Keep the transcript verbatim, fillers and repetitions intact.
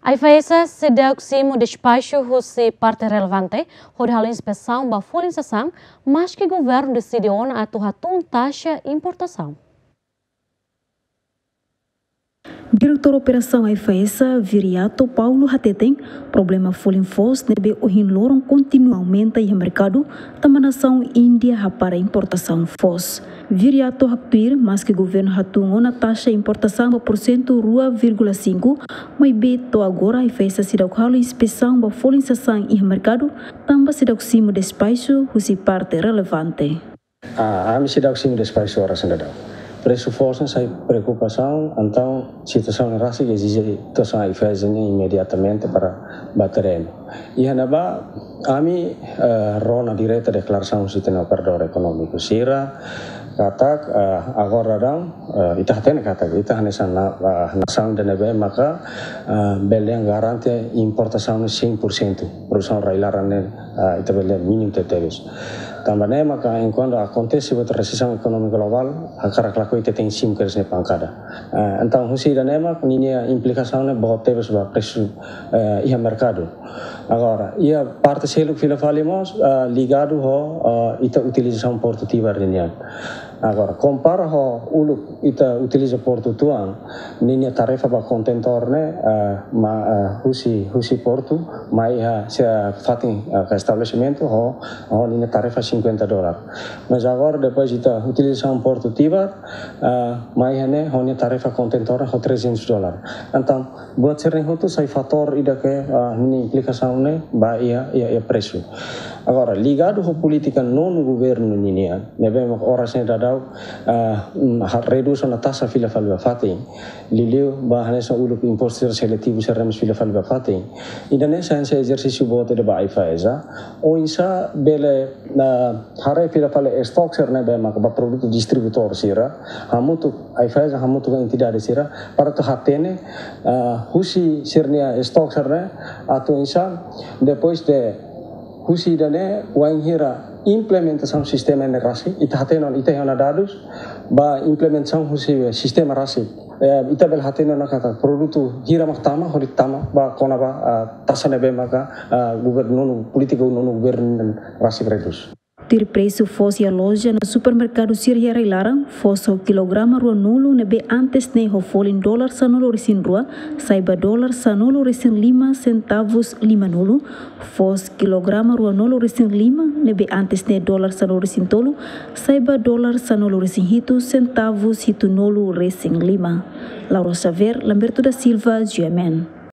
AIFAESA seidauk simu despaxu husi parte relevante hodi halo inspesaun ba folin sasán, maski governu deside ona atu hatún taxa importasaun. Diretór Operasaun AIFAESA, Viriato Paulo hateten, problema folin foos ne'ebé ohin loron kontinua aumenta iha merkadu, tanba nasaun Índia hapara importasaun foos. Viriato haktuir, maski governu hatún ona taxa importasaun ba porsentu rua vírgula sinku, maibé to'o agora AIFAESA seidauk halo inspesaun ba folin sasán iha merkadu, tanba seidauk simu despaxu husi parte relevante. Ah, ami seidauk simu despaxu oras ne'e daudaun. Presu foos ne'e sai preokupasaun, entaun situasaun ne'e rasik ezije situasaun AIFAESA ne'e imediatamente para ba terrenu. Iha ne'ebá, ami, eh, rona direta deklarasaun husi ita-nia operadór ekonómiku sira, katak, eh, agora daudaun, eh, ita hatene katak, ita hanesan na-, eh, nasaun ida ne'ebé maka, eh, bele garante importasaun ne'e cem por cento, produsaun rai-laran ne'e, eh, ita bele mínimu tebetebes. Tanba ne'e maka, enkuantu akontese buat resesaun ekonómiku globál, hakarak lakohi ita tenke simu kedas nia pankada. Eh, entaun, husi ida-ne'e mak ninia implikasaun ne'e boot tebes ba presu, eh, iha merkadu. Agora, iha parte seluk fila fali mós, eh, ligadu ho, eh, ita utilizasaun portu Tibar ninian. Agora, kompara ho uluk ita utiliza portu tuan, ninia tarifa ba kontentór ne'e, eh, ma, eh, husi, husi portu, mai iha se fatin, eh, ka estabelesimentu ho, ho ninia tarifa cinquenta dólar. Mas agora, depois ita utilizasaun portu Tibar, ah, mai iha ne'e ho nia tarifa kontentór ho trezentos dólar. Entaun, buat sira-ne'e hotu sai fatór ida ke, ah, ninia implikasaun ne'e ba iha, iha, iha presu. Agora, ligadu ho polítika nonu governu ninian, ne'ebé mak oras ne'e daudaun, ah, mm, ha-, redús ona taxa fila fali ba fatin. Liuliu ba hanesan uluk impostu seletivu sira mós fila fali ba fatin. Ida-ne'e sai hanesan ezersísiu boot ida ba AIFAESA. Oinsá bele, ah, haree fila fali estok sira ne'ebé maka ba produtu distribuitór sira, hamutuk, AIFAESA hamutuk ho entidade sira, para atu hatene, ah, husi sira-nia estok sira ne'e, atu oinsá, depois de husi ida-ne'e, wainhira implementasaun sistema ne'e rasik, ita hatene ona, ita iha ona dadus, ba implementasaun husi sistema rasik. Eh, ita bele hatene ona katak produtu hira mak tama, hodi tama, ba kona-ba, ah, taxa ne'ebé maka, ah, governu, polítika nonu governu rasik redús. Tuir presu foos iha loja no supermerkadu sira iha rai-laran, foos ho kilograma ruanulu ne'ebé antes ne'e ho folin dólar sanulu-resin-rua, sai ba dólar sanulu-resin-lima sentavus limanulu, foos kilograma ruanulu-resin-lima ne'ebé antes ne'e dólar sanulu-resin-tolu, sai ba dólar sanulu-resin-hitu sentavus hitunulu-resin-lima. Laura Xavier, Lamberto da Silva, G M N.